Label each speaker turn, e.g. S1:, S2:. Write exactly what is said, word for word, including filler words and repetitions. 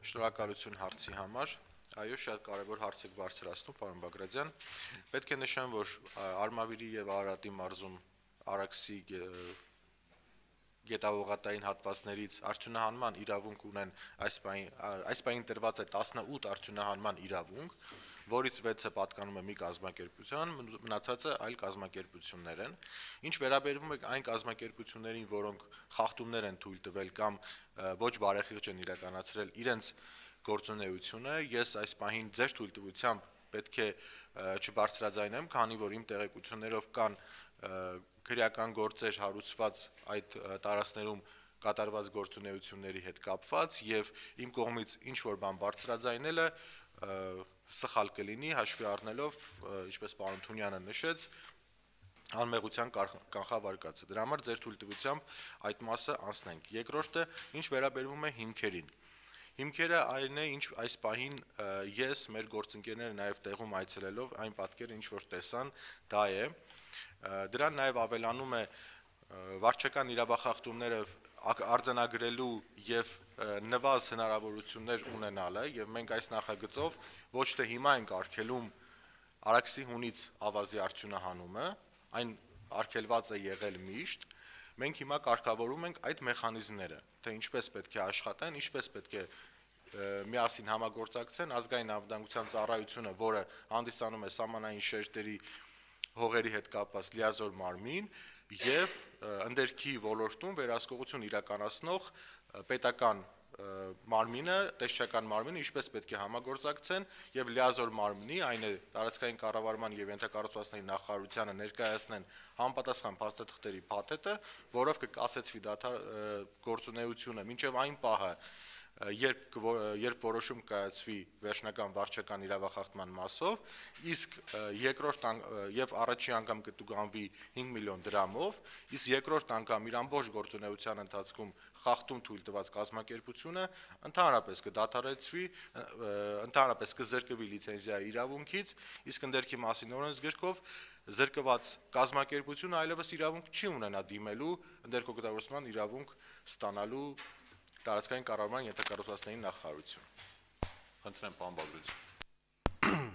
S1: Շնորհակալություն հարցի համար։ Այո, շատ կարևոր հարց եք բարձրացնում, պարոն Բագրատյան։ Պետք է նշեմ, որ Արմավիրի եւ Արարատի մարզում Արաքսի գետաօղատային հատվածներից արդյունահանման իրավունք ունեն այս պահին այս պահին տրված է տասնութ արդյունահանման իրավունք, որից վեցը պատկանում է մի կազմակերպության, մնացածը այլ կազմակերպություններ են։ Ինչ վերաբերվում է այն կազմակերպություններին, որոնք խախտումներ են թույլ տվել կամ ոչ բարեխիղճ են իրականացրել իրենց գործունեությունը, ես այս պահին ձեր թույլտվությամբ պետք է չբարձրաձայնեմ, քանի որ իմ տեղեկություններով կան քրեական գործեր հարուցված այդ տարածքներում կատարված գործունեությունների հետ կապված եւ իմ կողմից ինչ որ բան բարձրաձայնելը սխալ կլինի, հաշվի առնելով, ինչպես պարոն Թունյանը նշեց, անմեղության կանխավարկածը։ Դրա համար ձեր թույլտվությամբ այդ մասը անցնենք։ Երկրորդը, ինչ վերաբերվում է հիմքերին։ Հիմքերը այն է, ինչ այս պահին ես, մեր գործընկերները նաև տեղում այցելելով այն պատկերը, ինչ որ տեսան, դա է։ Դրան նաև ավելանում է վարչական իրավախախտումները արձանագրելու եւ նվազ հնարավորություններ ունենալը, եւ մենք այս նախագծով ոչ թե հիմա ենք արգելում Արաքսի հունից ավազի արդյունահանումը, այն արգելված է եղել միշտ, մենք հիմա կարգավորում ենք այդ մեխանիզմները, թե ինչպես պետք է աշխատեն, ինչպես պետք է միասին համագործակցեն ազգային անվտանգության ծառայությունը, որը հանդիսանում է սահմանային շերտերի հողերի հետ կապված լիազոր մարմին եւ ընդերքի ոլորտում վերահսկողություն իրականացնող պետական մարմինը, տեսչական մարմինը ինչպես պետք է համագործակցեն եւ լիազոր մարմնի, այն է տարածքային կառավարման եւ ենթակառուցվածքների նախարարությանը ներկայացնեն համապատասխան փաստաթղթերի փաթեթը, որով կկասեցվի դադար գործունեությունը մինչեւ այն պահը, երբ երբ որոշում կայացվի վերջնական վարչական իրավախախտման մասով, իսկ երկրորդ եւ առաջին անգամ կտուգանվի հինգ միլիոն դրամով, իսկ երկրորդ անգամ իր ամբողջ գործունեության ընթացքում խախտում թույլ տված կազմակերպությունը ընդհանրապես կդադարեցվի, ընդհանրապես կզրկվի լիցենզիայի իրավունքից, իսկ ընդերքի մասին օրենսգրքով զրկված կազմակերպությունը այլևս իրավունք չի ունենա դիմելու ընդերքօգտագործման իրավունք ստանալու տարածքային կառավարման ենթակառուցվածքների նախարարություն։
S2: Խնդրեմ, պարոն Բագրատյան։